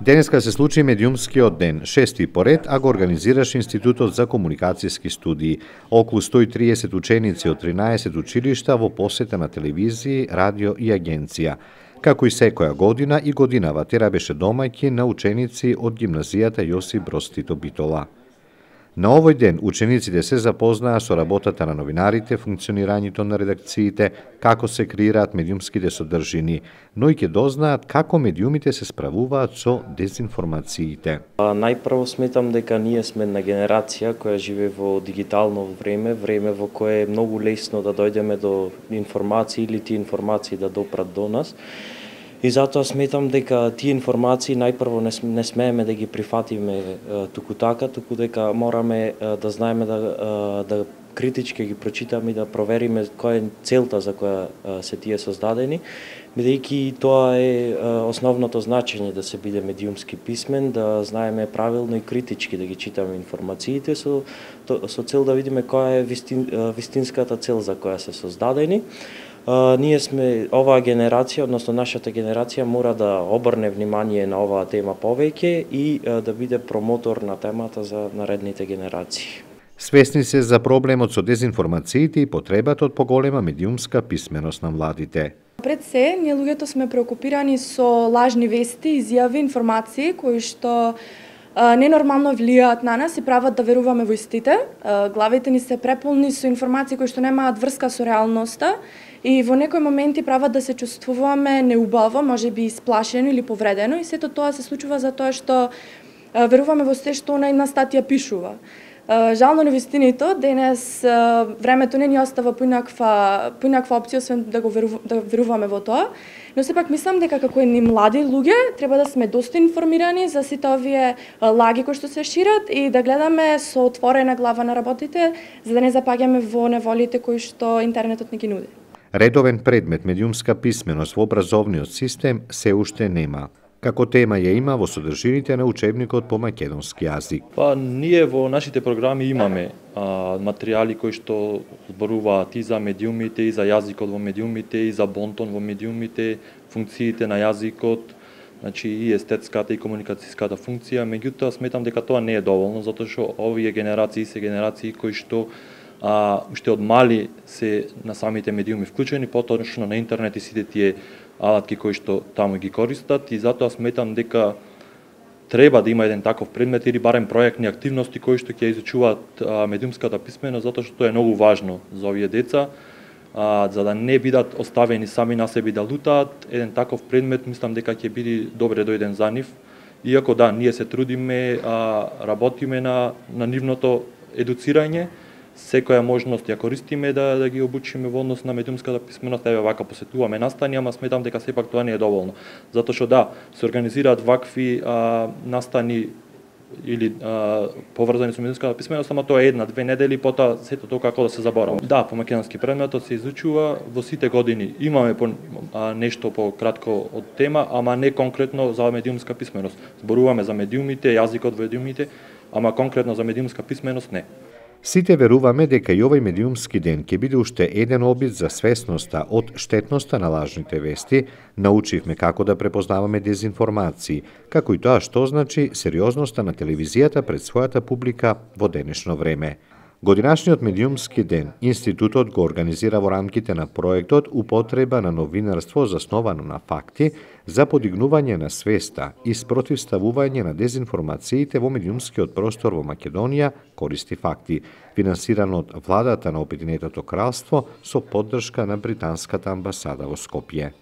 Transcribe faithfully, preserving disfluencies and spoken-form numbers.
Денеска се случи медиумскиот ден, шести поред, а го организираш Институтот за комуникацијски студии. Околу сто и триесет ученици од тринаесет училишта во посета на телевизија, радио и агенција. Како и секоја година, и годинава Тера беше домаќин на ученици од гимназијата Јосип Броз Тито Битола. На овој ден учениците се запознаа со работата на новинарите, функционирањето на редакциите, како се креираат медиумските содржини, но и ќе дознаат како медиумите се справуваат со дезинформациите. Најпрво сметам дека ние сме една генерација која живее во дигитално време, време во кое е многу лесно да дојдеме до информации или тие информации да допрат до нас. И затоа сметам дека тие информации најпрво не, не смееме да ги прифатиме е, туку така, туку дека мораме е, да знаеме да, е, да критички ги прочитаме и да провериме која е целта за која е, се тие создадени, бидејќи тоа е, е основното значење да се биде медиумски писмен, да знаеме правилно и критички да ги читаме информациите со, то, со цел да видиме која е вистин, вистинската цел за која се создадени. Uh, ние сме, оваа генерација, односно нашата генерација мора да обрне внимание на оваа тема повеќе и uh, да биде промотор на темата за наредните генерации. Свесни се за проблемот со дезинформациите и потребата од поголема медиумска писменост на младите. Пред се, ние луѓето сме преокупирани со лажни вести, изјави, информации кои што ненормално влијаат на нас и прават да веруваме во истите. Главите ни се преполни со информации кои што немаат врска со реалноста и во некои моменти прават да се чувствуваме неубаво, можеби исплашено или повредено, и сето тоа се случува за тоа што веруваме во се што она една статија пишува. Жално невистиното, денес времето не ни остава поинаква, поинаква опција, освен да го веру, да веруваме во тоа, но сепак мислам дека како едни млади луѓе треба да сме доста информирани за сите овие лаги кои што се шират и да гледаме со отворена глава на работите, за да не запаѓаме во неволите кои што интернетот не ги нуди. Редовен предмет медиумска писменост во образовниот систем се уште нема. Како тема ја има во содржините на учебникот по македонски јазик. Па ние во нашите програми имаме а, материјали кои што зборуваат и за медиумите, и за јазикот во медиумите, и за бонтон во медиумите, функциите на јазикот, значи и естетската и комуникацијската функција. Меѓутоа сметам дека тоа не е доволно, затоа што овие генерации се генерации кои што а, уште од мали се на самите медиуми вклучени, поточно на интернет и сите тие алатки кои што таму ги користат, и затоа сметам дека треба да има еден таков предмет или барем проектни активности кои што ќе изучуваат а, медиумската писменост, затоа што тоа е многу важно за овие деца, а, за да не бидат оставени сами на себе да лутаат. Еден таков предмет мислам дека ќе биде добре дојден за нив. Иако да, ние се трудиме, а, работиме на на нивното едуцирање, секоја можност ја користиме да, да ги обучиме во однос на медиумската писменост, еве вака посетуваме настани, ама сметам дека сепак тоа не е доволно. Затоа што да, се организираат вакви а, настани или а, поврзани со медиумската писменост, ама тоа е една, две недели, потоа сето тоа како да се заборава. Да, по македонски предметот се изучува во сите години. Имаме по, а, нешто по кратко од тема, ама не конкретно за медиумска писменост. Зборуваме за медиумите, јазикот во медиумите, ама конкретно за медиумска писменост не. Сите веруваме дека и овој медиумски ден ќе биде уште еден обид за свесноста од штетноста на лажните вести, научивме како да препознаваме дезинформации, како и тоа што значи сериозноста на телевизијата пред својата публика во денешно време. Годинашниот медиумски ден Институтот го организира во рамките на проектот Употреба на новинарство засновано на факти за подигнување на свеста и спротивставување на дезинформациите во медиумскиот простор во Македонија користи факти, финансиран од владата на Обединетото кралство со поддршка на британската амбасада во Скопје.